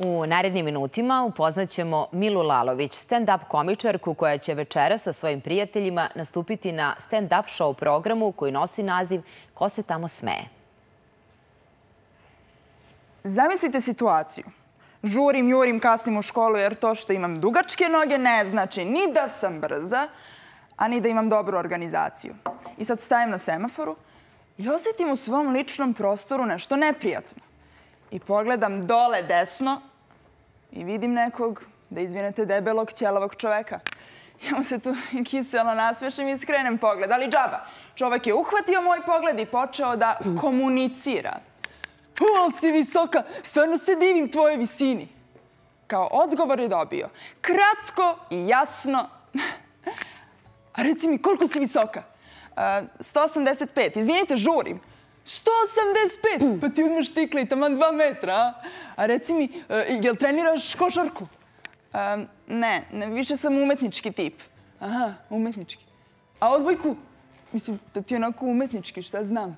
U narednim minutima upoznaćemo Milu Lalović, stand-up komičarku koja će večeras sa svojim prijateljima nastupiti na stand-up show programu koji nosi naziv Ko se tamo smeje. Zamislite situaciju. Žurim, jurim, kasnim u školu jer to što imam dugačke noge ne znači ni da sam brza, a ni da imam dobru organizaciju. I sad stajem na semaforu i osjetim u svom ličnom prostoru nešto neprijatno. I pogledam dole desno i vidim nekog, da izvinete, debelog, ćelavog čoveka. Ja mu se tu kiselo nasmešim i skrenem pogled, ali džaba. Čovek je uhvatio moj pogled i počeo da komunicira. Ali si visoka, stvarno se divim tvojoj visini. Kao odgovor je dobio. Kratko i jasno. A reci mi, koliko si visoka? 185. Izvinite, žurim. 185? Pa ti uzmeš tikle i taman 2 metra, a reci mi, jel treniraš košarku? Ne, više sam umetnički tip. Aha, umetnički. A odbojku? Mislim, da ti je onako umetnički, šta znam.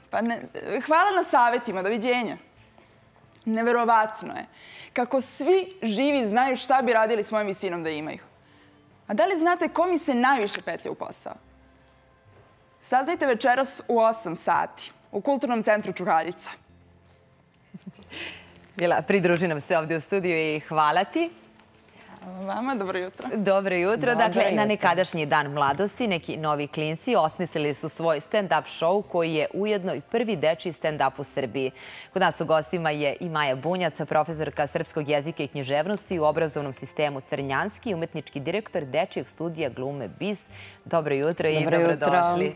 Pa ne, hvala na savjetima, doviđenja. Neverovatno je kako svi živi znaju šta bi radili s mojom visinom da imaju. A da li znate ko mi se najviše petlja u posao? Saznajte večeras u 8 sati u Kulturnom centru Čuhaljica. Mila, pridruži nam se ovdje u studiju i hvala ti. Vama, dobro jutro. Dobro jutro. Dakle, na nekadašnji dan mladosti neki novi klinci osmislili su svoj stand-up show koji je ujedno i prvi dečiji stand-up u Srbiji. Kod nas u gostima je i Maja Bunjac, profesorka srpskog jezika i književnosti u obrazovnom sistemu Crnjanski i umetnički direktor dečijeg studija glume BIS. Dobro jutro i dobrodošli.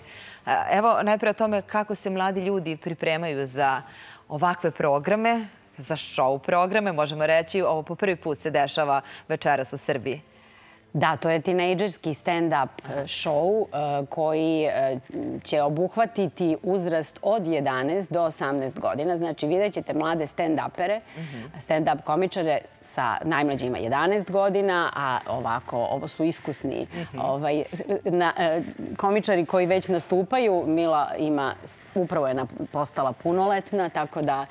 Evo, najprije o tome kako se mladi ljudi pripremaju za ovakve programe, za show programe, možemo reći. Ovo po prvi put se dešava večeras u Srbiji. Da, to je tinejdžerski stand-up show koji će obuhvatiti uzrast od 11 do 18 godina. Znači, vidjet ćete mlade stand-upere, stand-up komičare sa najmlađima 11 godina, a ovako, ovo su iskusni komičari koji već nastupaju. Mila upravo je postala punoletna, tako da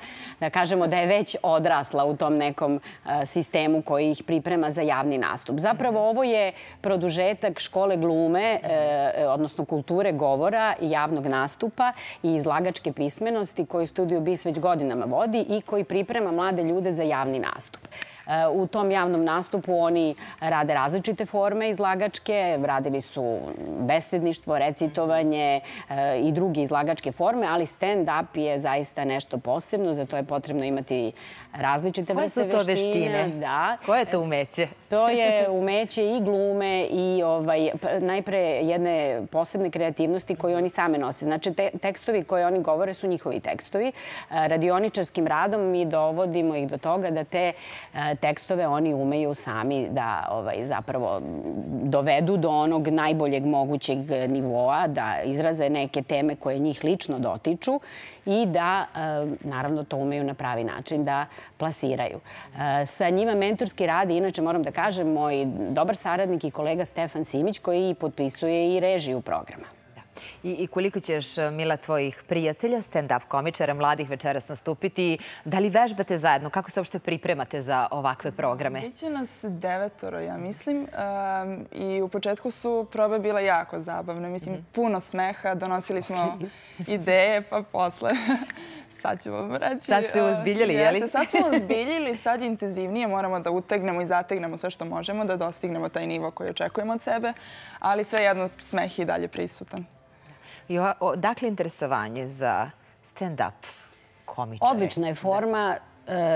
kažemo da je već odrasla u tom nekom sistemu koji ih priprema za javni nastup. Zapravo, ovo je produžetak škole glume, odnosno kulture govora i javnog nastupa i izlagačke pismenosti koju Studio BIS već godinama vodi i koji priprema mlade ljude za javni nastup. U tom javnom nastupu oni rade različite forme izlagačke, radili su besedništvo, recitovanje i druge izlagačke forme, ali stand-up je zaista nešto posebno, za to je potrebno imati različite vrste veštine. Koje su to veštine? Koje je to umeće? To je umeće i glume i najpre jedne posebne kreativnosti koje oni same nose. Znači, tekstovi koje oni govore su njihovi tekstovi. Radioničarskim radom mi dovodimo ih do toga da te tekstove oni umeju sami da zapravo dovedu do onog najboljeg mogućeg nivoa, da izraze neke teme koje njih lično dotiču i da, naravno, to umeju na pravi način da plasiraju. Sa njima mentorski radi, inače moram da kažem, moj dobar saradnik i kolega Stefan Simić koji potpisuje i režiju programa. I koliko ćeš, Mila, tvojih prijatelja, stand-up komičara, mladih večeras nastupiti? Da li vežbate zajedno? Kako se uopšte pripremate za ovakve programe? Biće nas 9, ja mislim. I u početku su probe bile jako zabavne. Mislim, puno smeha. Donosili smo ideje, pa posle... Sad ću vam reći. Sad ste uzbiljili, je li? Sad smo uzbiljili, sad intenzivnije moramo da utegnemo i zategnemo sve što možemo, da dostignemo taj nivo koji očekujemo od sebe, ali svejedno smeh je i dalje prisutan. Dakle, interesovanje za stand-up komičare? Odlična je forma.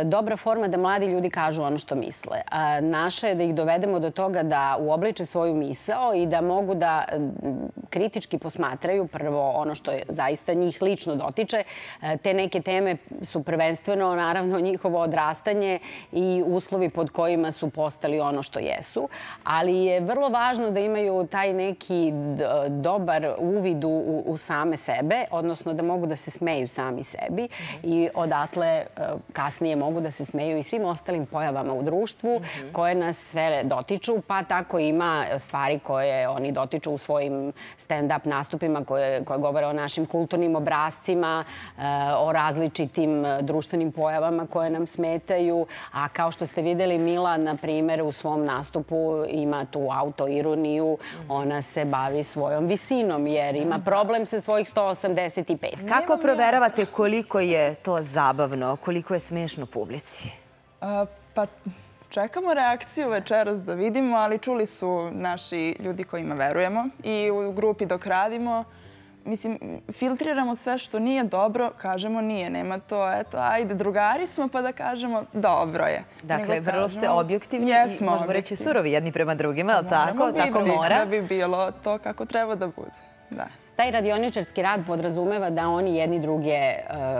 Dobra forma da mladi ljudi kažu ono što misle. Naše je da ih dovedemo do toga da uobliče svoju misao i da mogu da kritički posmatraju prvo ono što zaista njih lično dotiče. Te neke teme su prvenstveno, naravno, njihovo odrastanje i uslovi pod kojima su postali ono što jesu. Ali je vrlo važno da imaju taj neki dobar uvid u same sebe, odnosno da mogu da se smeju sami sebi i odatle kasnije kasnije mogu da se smeju i svim ostalim pojavama u društvu koje nas sve dotiču, pa tako ima stvari koje oni dotiču u svojim stand-up nastupima koje govore o našim kulturnim obrascima, o različitim društvenim pojavama koje nam smetaju. A kao što ste videli, Mila, na primjer, u svom nastupu ima tu autoironiju. Ona se bavi svojom visinom jer ima problem sa svojih 185. Kako proveravate koliko je to zabavno, koliko je smiješno publici? Pa čekamo reakciju večeras da vidimo, ali čuli su naši ljudi kojima verujemo i u grupi dok radimo. Mislim, filtriramo sve što nije dobro, kažemo nije, nema to, eto, ajde, drugari smo pa da kažemo dobro je. Dakle, vrlo ste objektivni i možemo reći surovi jedni prema drugima, je li tako? Tako mora. Da bi bilo to kako treba da bude, da. Taj radioničarski rad podrazumeva da oni jedni druge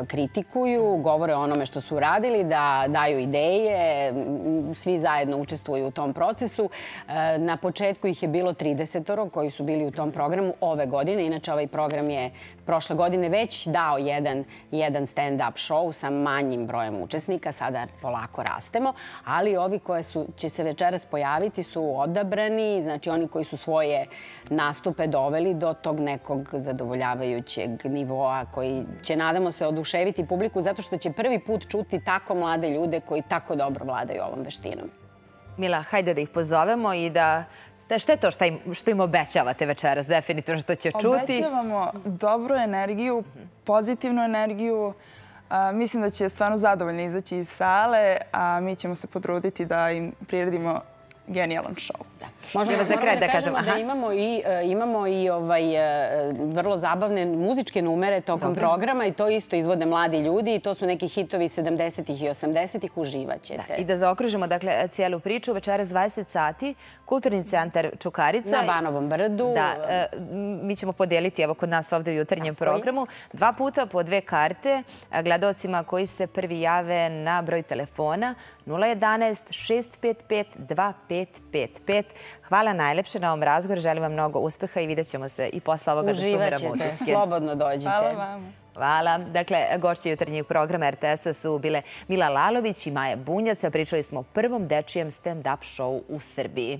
kritikuju, govore o onome što su radili, da daju ideje, svi zajedno učestvuju u tom procesu. Na početku ih je bilo 30 koji su bili u tom programu ove godine. Inače, ovaj program je prošle godine već dao jedan stand-up show sa manjim brojem učesnika. Sada polako rastemo. Ali ovi koje će se večeras pojaviti su odabrani, znači oni koji su svoje nastupe doveli do tog nekog zadovoljavajućeg nivoa koji će, nadamo se, oduševiti publiku zato što će prvi put čuti tako mlade ljude koji tako dobro vladaju ovom veštinom. Mila, hajde da ih pozovemo i da... Šta je to što im obećavate večeras, definitivno što će čuti? Obećavamo dobru energiju, pozitivnu energiju. Mislim da će stvarno zadovoljno izaći iz sale, a mi ćemo se potruditi da im priredimo genijalan show. Možemo za kraj da kažemo da imamo i vrlo zabavne muzičke numere tokom programa i to isto izvode mladi ljudi i to su neki hitovi 70-ih i 80-ih, uživaćete. I da zaokružimo cijelu priču, večeras 20 sati, Kulturni centar Čukarica. Na Banovom brdu. Da, mi ćemo podijeliti evo kod nas ovdje u jutarnjem programu 2 puta po 2 karte gledalcima koji se prvi jave na broj telefona 011 655 2555. Hvala najlepše na ovom razgovoru. Želim vam mnogo uspeha i vidjet ćemo se i posle ovoga da sumiramo utiske. Uživaćete, slobodno dođite. Hvala vam. Hvala. Dakle, gošće jutarnjeg programa RTS-a su bile Mila Lalović i Maja Bunjac. Pričali smo o prvom dečijem stand-up show u Srbiji.